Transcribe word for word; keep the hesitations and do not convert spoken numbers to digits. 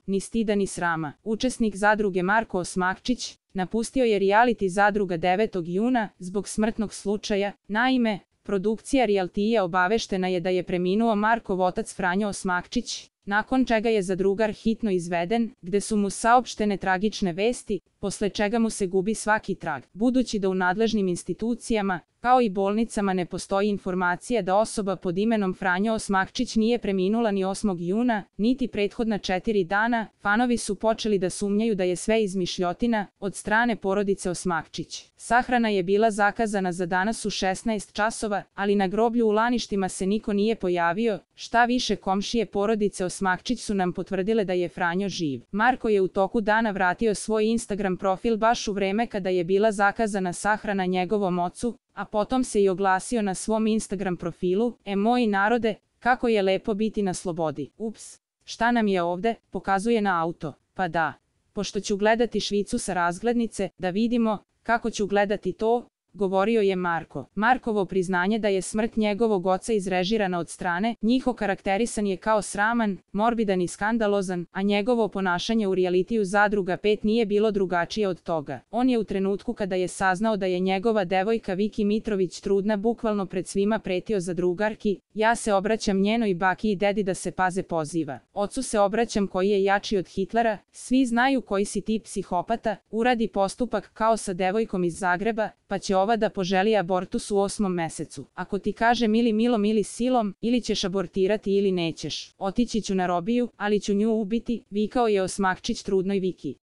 ni stida ni srama. Učesnik zadruge Marko Osmakčić napustio je reality zadruga devetog juna zbog smrtnog slučaja. Naime, produkcija realitija obaveštena je da je preminuo Markov otac Franjo Osmakčić, nakon čega je zadrugar hitno izveden, gde su mu saopštene tragične vesti, posle čega mu se gubi svaki trag. Budući da u nadležnim institucijama, kao i bolnicama ne postoji informacija da osoba pod imenom Franjo Osmakčić nije preminula ni osmog juna, niti prethodna četiri dana, fanovi su počeli da sumnjaju da je sve izmišljotina od strane porodice Osmakčić. Sahrana je bila zakazana za danas u šesnaest časova, ali na groblju u Laništima se niko nije pojavio, šta više komšije porodice Osmakčić su nam potvrdile da je Franjo živ. Marko je u toku dana vratio svoj Instagram profil baš u vreme kada je bila zakazana sahrana njegovom ocu, a potom se i oglasio na svom Instagram profilu: "E moji narode, kako je lepo biti na slobodi. Ups, šta nam je ovde?" Pokazuje na auto. "Pa da, pošto ću gledati Švicu sa razglednice, da vidimo kako ću gledati to", govorio je Marko. Markovo priznanje da je smrt njegovog oca izrežirana od strane njih okarakterisan je kao sraman, morbidan i skandalozan, a njegovo ponašanje u realitiju Zadruga pet nije bilo drugačije od toga. On je u trenutku kada je saznao da je njegova devojka Viki Mitrović trudna bukvalno pred svima pretio zadrugarki: "Ja se obraćam njenoj baki i dedi da se paze", poziva. "Ocu se obraćam koji je jači od Hitlera, svi znaju koji si ti psihopata, uradi postupak kao sa devojkom iz Zagreba, pa će ova da poželi abortus u osmom mesecu. Ako ti kažem ili milom ili silom, ili ćeš abortirati ili nećeš. Otići ću na robiju, ali ću nju ubiti", vikao je Osmakčić trudnoj Viki.